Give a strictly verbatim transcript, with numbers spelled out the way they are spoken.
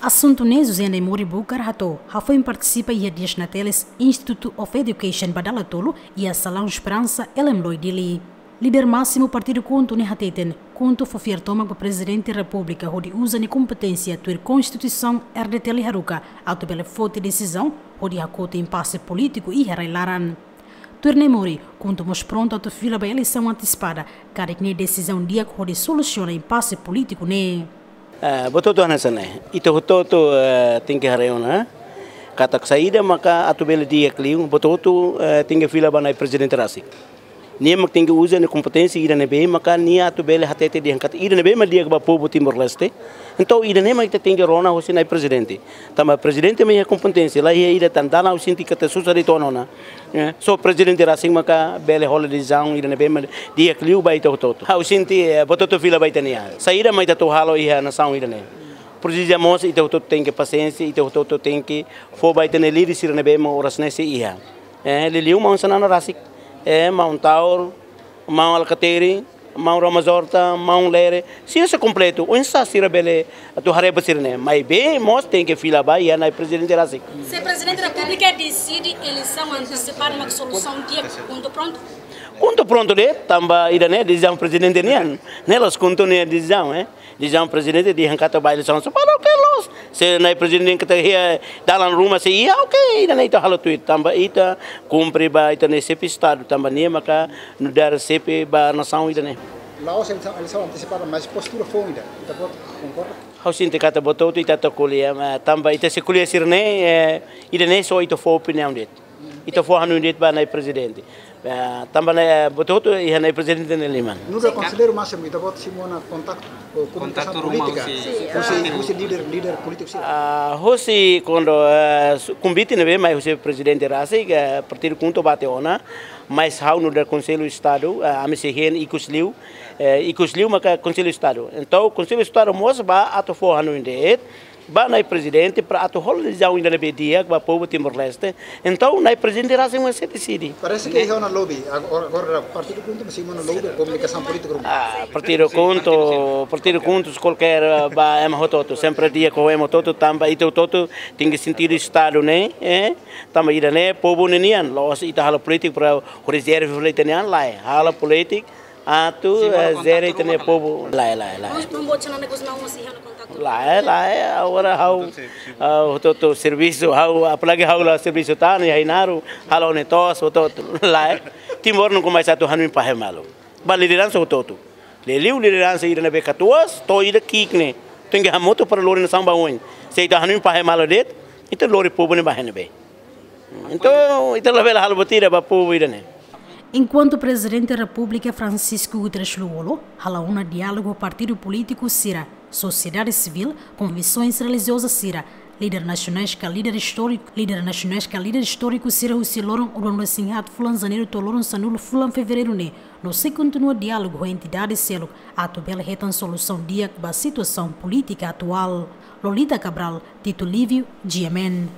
Asuntu ne'e José Naimori Bucar hato'o, hafoin partisipa iha dias na teles Institute of Education ba dala tolu iha Salaun Esperansa, Ellen Loi, Dili. Líder másimu partidu KHUNTO ne'e hateten, KHUNTO fó fiar tomak ba Prezidente Repúblika hodi uza nia kompeténsia tuir Konstituisaun R D T L haruka atu bele foti desizaun hodi hakotu impase polítiku iha rai-laran. Tuir Naimori, KHUNTO mós prontu atu fila ba eleisaun antesipada, karik ne'e desizaun di'ak hodi solusiona impase polítiku ne'e. Eh, buat hotu hanesan ne'e. Ita hotu-hotu, eh, tenke haree ona, eh. Katak saida maka atu bele di'ak liu, buat hotu, eh, tenke fila ba Na'i Prezidente rasik. Nia mak tenke uza nia kompeténsia ida ne'ebé maka nia atu bele hatete dehan katak ida ne'ebé mak di'ak ba povu Timor-Leste. Entaun ida ne'e mak ita tenke rona husi Na'i Prezidente. Tanba Prezidente mak iha kompeténsia, laiha ida tan dalan ha'u sente katak susar de'it ona. Eh, só Prezidente rasik maka bele hola desizaun ida ne'ebé mak di'ak liu ba ita hotu-hotu. Ha'u sente, eh, buat hotu fila ba ita-nia an. Saida mak ita atu halo iha nasaun ida ne'e. Presiza mós ita hotu-hotu tenke pasiénsia, ita hotu-hotu tenke fó ba ita-nia líder sira ne'ebé mak oras ne'e sei iha. Eh, liuliu maun Xanana rasik. Eh, maun Taur, maun Alkatiri, maun Ramos Horta, maun Lere, sira sei kompletu, oinsá sira bele atu haree ba sira-ne'e. Maibé mós tenke fila ba iha Na'i Prezidente rasik. Se Prezidente Repúblika deside eleisaun antesipada mak solusaun di'ak, KHUNTO prontu? KHUNTO prontu de'it, tanba ida ne'e desizaun Prezidente nian. Ne'e la'ós KHUNTO nia desizaun, eh. Desizaun Prezidente dehan katak ba eleisaun antesipada, oke, loos. Se Na'i Prezidente katak iha dalan ruma sei iha, oke, ida ne'e ita halo tuir. Tanba ita kumpre ba ita-nia xefe Estadu, tanba nia maka nu'udar xefe ba nasaun ida ne'e. La'ós eleisaun, eleisaun antesipada, mas postura foun ida. Ita-boot konkorda? Ha'u sente katak buat hotu ita atu ko'alia, eh, tanba ita sei ko'alia sira-ne'e, eh, ida ne'e só ita fó opiniaun de'it. Ita fó hanoin de'it ba Na'i Prezidente. Eh, tanba ne'e, eh, buat hotu iha Na'i Prezidente nia liman. Nu'udar konselleiru másimu, ita-boot simu ona kontaktu ho komunikasaun polítika, husi, husi líder, líder polítiku sira? Ah, husi kuandu, eh, su-, konvite ne'ebé mai husi Prezidente rasik, eh, partidu KHUNTO bá tiha ona, mas ha'u nu'udar Konsellu Estadu, eh, ami sei hein ikus liu, eh, ikus liu maka Konsellu Estadu. Entaun, Konsellu Estadu mós bá atu fó hanoin de'it ba Na'i Prezidente para atu hola desizaun ida ne'ebé di'ak ba povu Timor-Leste. Entaun, Na'i Prezidente rasik mak sei deside. Parese ke iha ona lobby, agora, agora partidu KHUNTO mak simu ona lobby, komunikasaun polítika ruma. Ah, partidu KHUNTO, partidu KHUNTO, kualkér, eh, ba ema hotu-hotu, sempre di'ak ho ema hotu-hotu, tanba ita hotu-hotu tenke sentidu Estadu ne'e, eh, tanba ida ne'e povu nia nian, la'ós ita halo polítika para rezerva fali ita-nia an, lae, halo polítika atu, eh, jere ita-nia povu. Lae, lae, lae. Maibé buat Xanana Gusmão mós iha ona kontaktu? Lae, lae, agora ha'u, ah, hotu-hotu servisu, ha'u, apalagi ha'u la servisu tan, iha Ainaro, halo ne'e to'os, hotu-hotu, lae. Timor nunka mais atu hanoin fahe malu. Ba lideransa hotu-hotu. Liuliu lideransa ida ne'ebé katuas, to'o ida ki'ik ne'e. Tenke hamutuk para lori nasaun ba oin. Se ita hanoin fahe malu de'it, ita lori povu ne'e ba iha ne'ebé? Entaun, ita labele halo buat ida ba povu ida ne'e. Enkuantu Prezidente Repúblika Francisco Guterres Lú-Olo halo ona diálogu ho partidu polítiku sira, sosiedade sivíl, konfesoens relijioza sira, líder nasionais ka líder istóriku, líder nasionais ka líder istóriku sira husi loron ruanulu-resin-haat fulan Janeiru to'o loron sanulu fulan Fevereiru ne'e, no sei kontinua diálogu ho entidade seluk atu bele hetan solusaun di'ak ba situasaun polítika atuál. Lolita Cabral, Tito Lívio, G M N.